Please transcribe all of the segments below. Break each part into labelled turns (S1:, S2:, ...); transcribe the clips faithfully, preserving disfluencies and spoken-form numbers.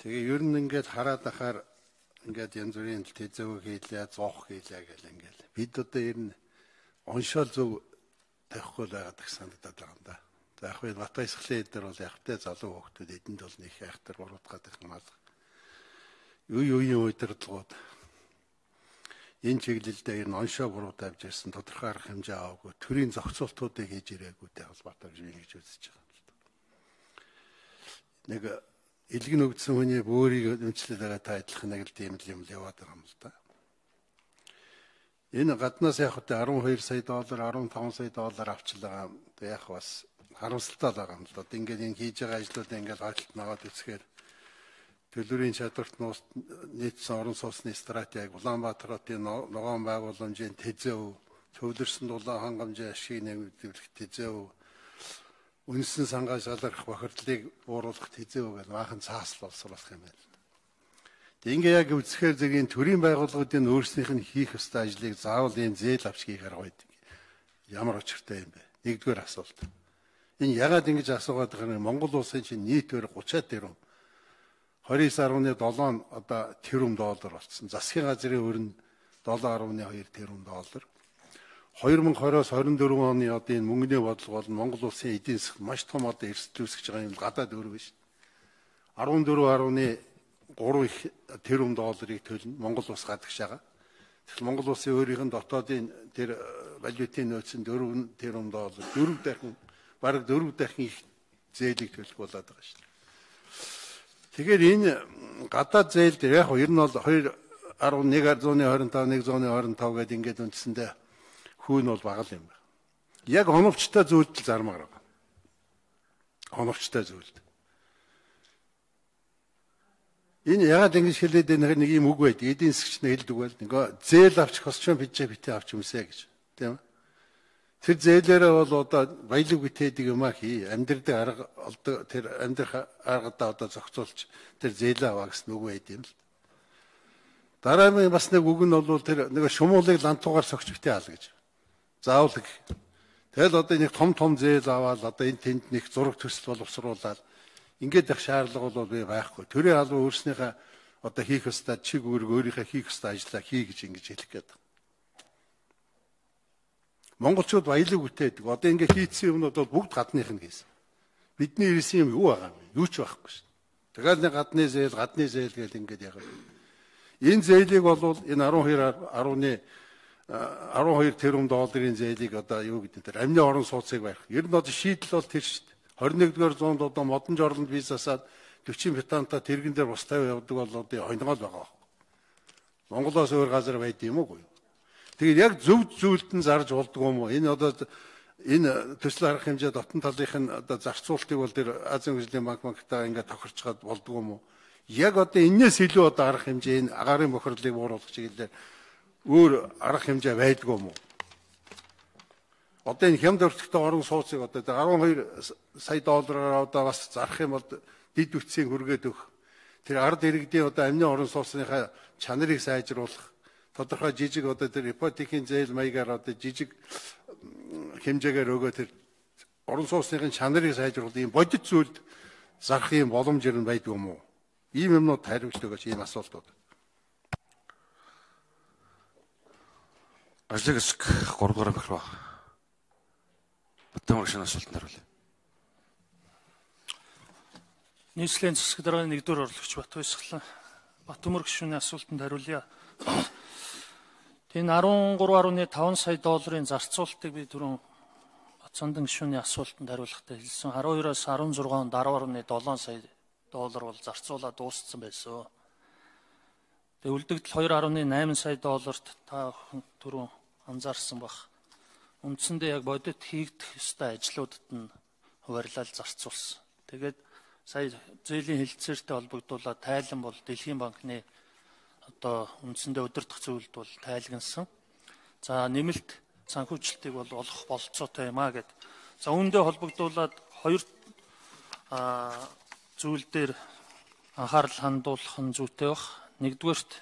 S1: Тэгээ ер нь ингээд хараад ахаар ингээд янз бүрийн тэзэв хийлээ, зоох хийлээ гэл ингээд бид одоо ер нь оншоол зөв тавихгүй байгаад их санагдаад байгаа юм да. За яг нь бат баясгалын эдэр бол ягтай залуу хүүхдүүд эдэнд бол нэг хайхтар гурвдгаад их мал. Юу юуийн удирдлагууд энэ чиглэлдээ ер нь оншоо буруу тавьж ирсэн тодорхой арга хэмжээ аваагүй төрийн зохицуултуудыг хийж ирээгүй холбоотой гэж би ингэж үзэж байгаа юм л да. Нэг илгэн өгдсөн хүний бөөрийг өмчлөж байгаа та адилхан нэг л тийм л юм л яваад байгаа юм л да. Энэ гаднаас яг хөтэ арван хоёр сая доллар, арван таван сая доллар авчлаа. Яг бас харамсалтай байгаа юм л да. Ингээд энэ хийж байгаа ажлуудаа ингээд хайлт наваад үзэхээр төлөвийн чадварт нийцсэн орон сууцны стратеги, Улаанбаатар хотын ногоон байгууламжийн тэзэв, төвлөрсөн дулаан хангамжийн ашиг нэмэгдүүлэх тэзэв, үндэсний сангаас шалрах бохирдлыг бууруулах тэзэв гэж баахан цаасл болсруулах юм байна. Ингээ яг үзэхээр зэргийн төрийн байгууллагуудын өөрснийх нь хийх ёстой ажлыг заавал ийм зээл авч хийхээр байдаг. Ямар учиртай юм бэ? Нэгдүгээр асуулт. Энэ ягаад ингэж асуугаад байгаа юм? Монгол улсын чинь нийт өр гучаад тэрбум двадцать девять ноль семь одоо тэрбум доллар болсон. Засгийн газрын өрн seven point two тэрбум доллар. twenty twenty-оос twenty-four оны одоо энэ мөнгөний бодлого бол Монгол улсын эдийн засгт маш том одоо эрсдэл үүсгэж байгаа юм гадаад өр биш. fourteen point three тэрбум долларыг төлнө Монгол улс гадагш байгаа. Тэгэхээр Монгол улсын өөрийнх нь дотоодын тэр валютын нөөцөнд four тэрбум доллар дөрөв дахин бараг дөрөв дахин их зээлийг төлөх болоод байгаа шүү дээ. Тэгэхээр энэ гадаад зээл дээр яг ер нь бол two point one twenty-five one twenty-five гэдэг ингээд үндсэндээ хүүн бол бага л юм байна. Яг оновчтой зүйлдэл зармаар байгаа. Оновчтой зүйлд. Энэ ягаад ингэж хэлээд байгаа нэг юм үг байд. Эдийн засгч нь хэлдэг байл. Нөгөө зээл авч хосчон бижээ битээ авч юмсэ гэж. Тийм үү? Тэр зээлээрээ бол одоо баялаг битээдэг юм а хий. Амьдрэх арга олдог тэр амьдрах аргадаа одоо зохицуулж тэр зээлээ аваа гэсэн үг байд юм л. Дараагийн бас нэг үг нь бол тэр нэг шумуулыг лантуугаар согч битээ аал гэж. Заавал гэх. Тэгэл одоо нэг том том зээл аваад одоо энэ тэнд нэг зураг төсөл боловсруулаад ингээд их шаардлага бол би байхгүй. Төрийн албан өөрснийхээ одоо хийх ёстой чиг үүрэг өөрийнхөө хийх ёстой ажлаа хий гэж ингэж хэлэх гээд. Монголчууд баялаг бүтээдэг. Одоо ингээд хийцсэн юмнууд бол бүгд гадных нь хийсэн. Бидний ирсэн юм юу байгаа юм? Юу ч байхгүй шүү. Тэгээд нэг гадны зээл, гадны зээл гэж ингээд яг. Энэ зээлийг бол энэ twelve twelve тэрбум долларын зээлийг одоо юу гэдэг тэр амны орон сууцыг барих. Ер нь одоо шийдэл бол тэр шүү дээ. twenty-first зуунд одоо модон жорлонд визасаад forty бетанта тэргэн дээр бус тавь явдаг бол одоо хойноогоо байгаа. Монголоос өөр газар байд юм уу? Тэгээд яг зөв зүйлд нь зарж болдгоо юм уу? Энэ одоо энэ төсөл арга хэмжээ дотн талынх нь одоо зарцуултыг бол тэр Азийн хөгжлийн банк банктаа ингээд тохирчгаад болдгоо юм уу? Яг одоо энэс илүү одоо арга хэмжээ энэ агарын бохирдлыг бууруулах чиглэлээр өөр арга хэмжээ байдгүй юм уу? Одоо энэ хямд өртөгтэй орон сууцыг одоо twelve сая доллараар одоо бас зарах юм бол дид үтсийн хүргээд өгөх. Тэр ард иргэдийн одоо амны орон сууцныхаа чанарыг сайжруулах. Тодорхой жижиг одоо тэр ипотекийн зээл маягаар одоо жижиг хэмжээгээр өгөө тэр орон сууцны чанарыг сайжруулах ийм бодит зүйлд зарах юм боломж ер нь байдгүй юм уу? Ийм юмнууд хариулт өгөөч ийм асуултууд.
S2: Ажлыг хэсэг three дугаар бахархаа. Батмар гişin асуултанд хариулъя.
S3: Нийслэлийн засаг дарганы нэгдүгээр орлогч Бат Баясгалан Батмар гişүний асуултанд хариулъя. Энэ thirteen point five сая долларын зарцуулалтыг би түрүүн Батцандан гишүүний асуултанд хариулахдаа хэлсэн. twelve-оос sixteen онд ten point seven сая доллар бол зарцуулаад дууссан байсан. Тэгээ үлдэгдэл two point eight сая долларт та түрүүн анзаарсан бах. Үндсэндээ яг бодит хийгдэх ёстой ажлуудад нь хуваарлал зарцуулсан. Тэгээд сая зээлийн хэлэлцээртэй холбогдуулаад тайлан бол Дэлхийн банкны одоо үндсэндээ удирдах зүйлд бол тайлгансан. За нэмэлт санхүүжилтийг бол олох болцоотой юм а гэд. За үүндээ холбогдуулаад хоёр зүйл дээр анхаарал хандуулах нь зүйтэй баг. Нэгдүгээрт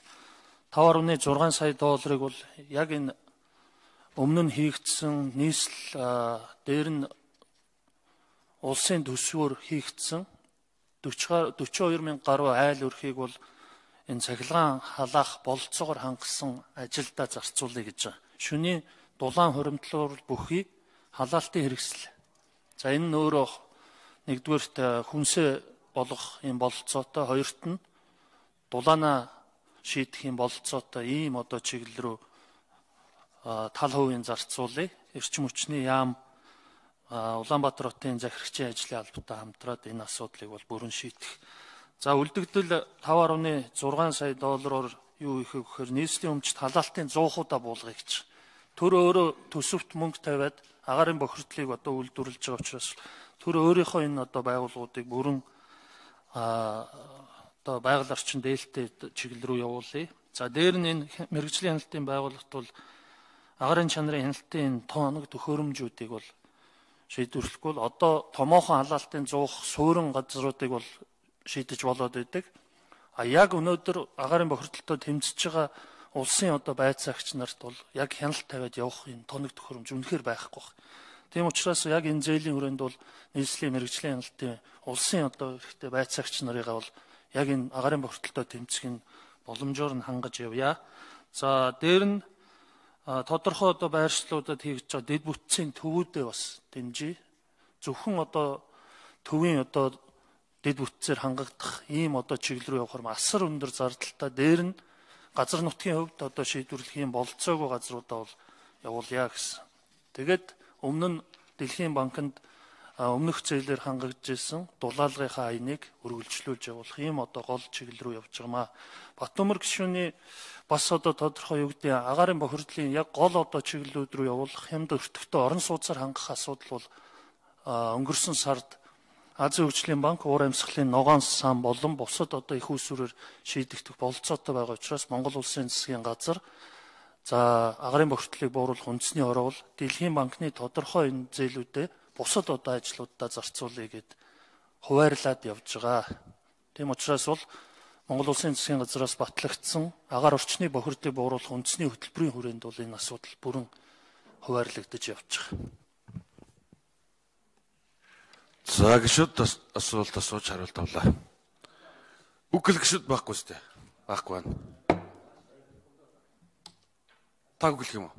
S3: five point six сая долларыг бол яг энэ өмнө нь хийгдсэн нийслэл дээр нь улсын төсвөөр хийгдсэн forty two мянга гаруй айл өрхийг бол энэ цахилгаан халаах бололцоогоор хангасан ажилдаа зарцуулъя гэж байна. Шөнийн дулаан хуримтлал бүхий халаалтын хэрэгсэл. За энэ нь өөрөө нэгдүгээрт хүнсээ болгох юм бололцоотой, хоёрт нь дулаанаа шийдэх юм бололцоотой ийм одоо чиглэл рүү тал хувийн зарцуулъя. Эрчим хүчний яам Улаанбаатар хотын захирагчийн ажлын албатай хамтраад энэ асуудлыг бол бүрэн шийдэх. За үлдэгдэл five point six сая доллараар юу их гэхээр нийслэлийн өмчт халаалтын зуухуудаа буулгая гэж. Төр өөрөө төсөвт мөнгө тавиад агаарын бохирдлыг одоо үйлдвэрлэж байгаа учраас төр өөрийнхөө энэ одоо байгууллагуудыг бүрэн одоо байгаль орчин дээлтэй чиглэл рүү явуулъя. За дээр нь энэ мэргэжлийн хяналтын байгууллагт бол агаарын чанарын хяналтын тоног төхөөрөмжүүдийг бол шийдвэрлэхгүй бол одоо томоохон халаалтын зуух суурин газруудыг бол шийдэж болоод байдаг. А яг өнөөдөр агаарын бохирдолтой тэмцэж байгаа улсын одоо байцаагч нарт бол яг хяналт тавиад явах юм тоног төхөөрөмж үнэхээр байхгүй байна. Тийм учраас яг энэ зээлийн хүрээнд бол нийслэлийн мэргэжлийн хяналтын улсын одоо хэрэгтэй байцаагч нарыгаа бол яг энэ агаарын бохирдолтой тэмцэх нь боломжоор нь хангаж явъя. За дээр нь тодорхой одоо байршлуудад хийж байгаа дэд бүтцийн төвүүдээ бас дэмжиж зөвхөн одоо төвийн одоо дэд бүтцээр хангагдах ийм одоо чиглэл рүү явахаар асар өндөр зардалтай. Дээр нь газар нутгийн хувьд одоо шийдвэрлэх юм болцоогүй газруудаа бол явуулъя гэсэн. Тэгээд өмнө нь Дэлхийн банкнд өмнөх зээлээр хангагдж ирсэн дулаалгынхаа аяныг үргэлжлүүлж явуулах ийм одоо гол чиглэл рүү явж байгаамаа. Батбөмбөр гишүүний бас одоо тодорхой юу гэдэг агаарын бохирдлын яг гол одоо чиглэлүүд рүү явуулах хямд өртөгтэй орон сууцаар хангах асуудал бол өнгөрсөн сард Азийн хөгжлийн банк уур амьсгалын ногоон сан болон бусад одоо их усүрээр шийдэгдэх бололцоотой байгаа учраас Монгол улсын засгийн газар за агаарын бохирдлыг бууруулах үндэсний ороо бол Дэлхийн банкны тодорхой энэ зээлүүдэд бусад одоо ажлуудаа зарцуулъя гэд хуваарлаад явж байгаа. Тийм учраас бол Монгол улсын засгийн газраас батлагдсан агаар орчны бохирдлыг бууруулах үндэсний хөтөлбөрийн хүрээнд бол энэ асуудал бүрэн хуваарлагдаж явж байгаа.
S2: За гişүүд асуулт асууж хариулт авлаа. Үгэл гişүүд байхгүй сте. Байхгүй байна. Та үгэлх юм уу?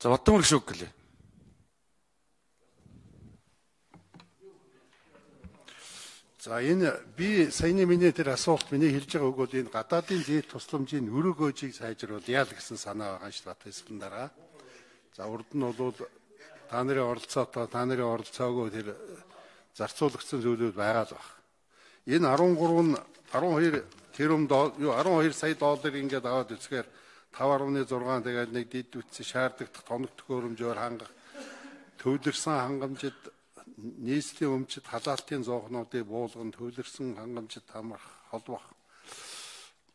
S2: За Батбөмбөр гişүү үгэлээ.
S1: За энэ би саяны миний тэр асуулт миний хэлж байгаа өгөөд энэ гадаадын зээл тусламжийн өрөөгөөжийг сайжруулъя л гэсэн санаа байгаа шүү дээ хэлсэн дараа. За урд нь бол та нарын оролцоотой та нарын оролцоогоо тэр зарцуулагдсан зүйлүүд байгаа л байна. Энэ thirteen twelve тэрбум юу twelve сая доллар ингээд аваад үзэхээр five point six тэгээд нэг дэд үтсэн шаардлагатай тоног төхөөрөмжөөр хангах төвлөрсөн хангамжид нийслэлийн өмчит халаалтын зоохнуудыг буулган төвлөрсөн хангамжид хамрах холбох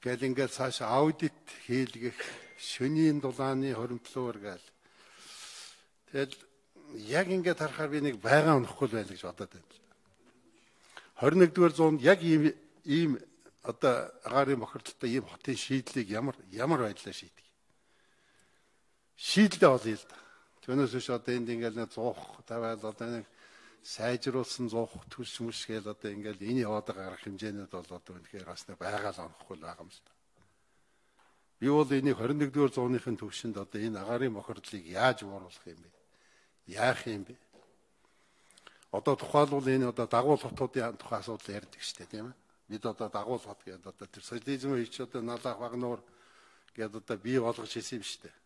S1: гэд ингээд цааш аудит хийлгэх шөнийн дулааны хоримтлуур гээл. Тэгэл яг ингээд харахаар би нэг байгаа өнөхгүй байл гэж бодоод байна. twenty-first зуунд яг ийм ийм одоо агаарын бохирдолтой ийм хотын шийдлийг ямар ямар байдлаар шийдэг. Шийдэлээ олъё л да. Түүнээс биш одоо энд ингээд нэг зуух тавиад одоо нэг сайжруулсан зуух төрш мөш гээл одоо ингээд энэ яваад байгаа арга хэмжээнүүд бол одоо үнэхээр бас нэг байгаа л онохгүй байгаа юм л да. Би бол энийг twenty-first зууныхын төвшөнд одоо энэ агаарын бохирдлыг яаж бууруулах юм бэ? Яах юм бэ? Одоо тухайлбал энэ одоо дагуул хотуудын тухай асуудал ярьдаг шүү дээ, тийм ээ. Бид одоо дагуул хот гэдэг одоо тэр социализм хийж одоо налах багнуур гэдэг одоо бий болгож хийсэн юм шүү дээ.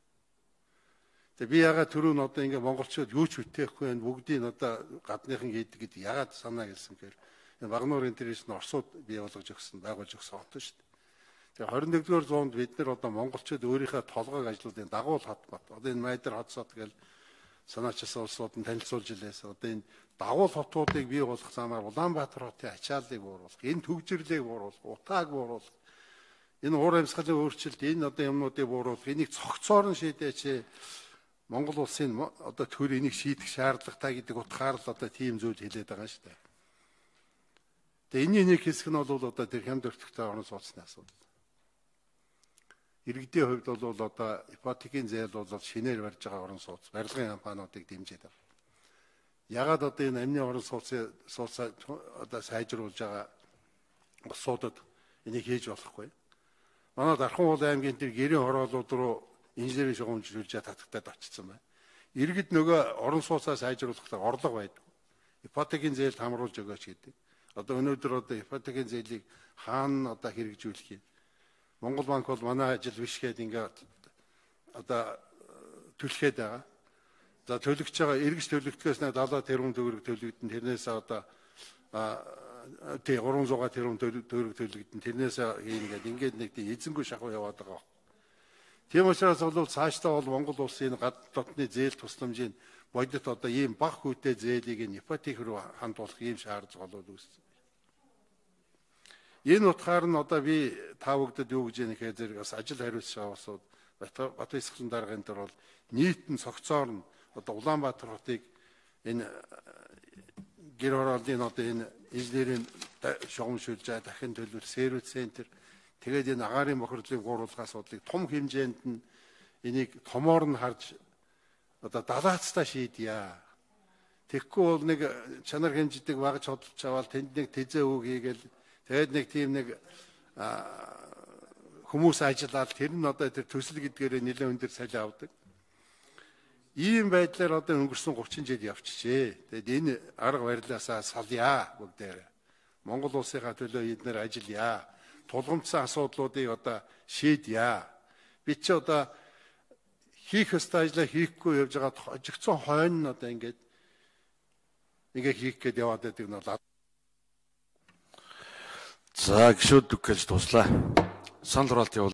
S1: Тэгээ би ягаад түрүү нь одоо ингээ монголчууд юу ч үтээхгүй байх бүгдийг одоо гадныхан хийдэг гэдэг ягаад санаа гэлсэн гэхээр энэ багнуур интернэшн Оросууд бий болгож өгсөн, байгуулж өгсөн хот шүү дээ. Тэгээ twenty-first зуунд бид нар одоо монголчууд өөрийнхөө толгойг ажлуудын дагуул хот бат. Одоо энэ Майдар хотсод гэл санаачсан улсууд нь танилцуулж илээс одоо энэ дагуул хотуудыг бий болгох замаар Улаанбаатар хотын ачааллыг бууруулах, энэ төгжрлийг бууруулах, утааг бууруулах, энэ уур амьсгалын өөрчлөлт, энэ одоо юмнуудыг бууруулах, энийг цогцоор нь шийдээч. Монгол улсын одоо төр энийг шийдэх шаардлагатай гэдэг утгаар л одоо тийм зүйл хэлээд байгаа шүү дээ. Тэгээ энэний нэг хэсэг нь бол одоо тэр хямд өртөгтэй орон сууцны асуудал. Иргэдийн хувьд бол одоо ипотекийн зээл бол шинээр барьж байгаа орон сууц, барилгын компаниудыг дэмжиж байгаа. Ягаад одоо энэ амны орон сууцыг сууцаа одоо сайжруулж байгаа улсуудад энийг хийж болохгүй. Манай Дархан уул аймгийн тэр гэрийн хороолууд руу инженерийн шугамжлуулж татагтаад очсон байна. Иргэд нөгөө орон сууцаа сайжруулахдаа орлого байдаг. Ипотекийн зээлд хамруулж өгөөч гэдэг. Одоо өнөөдөр одоо ипотекийн зээлийг хаана одоо хэрэгжүүлэх юм? Монгол банк бол манай ажил биш гээд ингээд одоо түлхээд байгаа. За төлөгч байгаа эргэж төлөгдөхөөс нэг далаа тэрбум төгрөг төлөгдөн тэрнээс одоо тий гурван зуун тэрбум төгрөг төлөгдөн тэрнээс ийм ингээд ингээд нэг тий эзэнгүй шахуу яваад байгаа. Тийм учраас бол цаашдаа бол Монгол улсын гадаад дотны зээл тусламжийн бодит одоо ийм бага хүүтэй зээлийг нь ипотек руу хандуулах ийм шаардлага болоод үүссэн. Энэ утгаар нь одоо би та бүгдэд юу гэж яах вэ зэрэг бас ажил хариуцж байгаа улсууд Бат Баясгалан даргын дээр бол нийтэн цогцоор нь одоо Улаанбаатар хотыг энэ гэр хорооллын одоо энэ инженерийн шугамшуулж байгаа дахин төлөвлөлт Сэрүүт центр тэгээд энэ агаарын бохирдлын гурвалгаа асуудлыг том хэмжээнд нь энийг томоор нь харж одоо далаацтай шийдъя. Тэгэхгүй бол нэг чанар хэмждэг багж хөдөлж аваад тэнд нэг тэзээ үг хийгээл тэгээд нэг тийм нэг хүмүүс ажиллаад тэр нь одоо тэр төсөл гэдгээр нэлээд өндөр салхи авдаг. Ийм байдлаар одоо өнгөрсөн гучин жил явчихжээ. Тэгэд энэ арга барилаасаа салъя бүгдээр. Монгол улсынхаа төлөө эднэр ажиллая. Тулгымцсан асуудлуудыг одоо шийдъя. Би ч одоо хийх ёстой ажлаа хийхгүй явж байгаа хожигдсон хойно нь одоо ингээд ингээ хийх гээд яваад байдаг нь бол.
S2: За гişүүд үгэж туслаа. Санал хураалт явуул.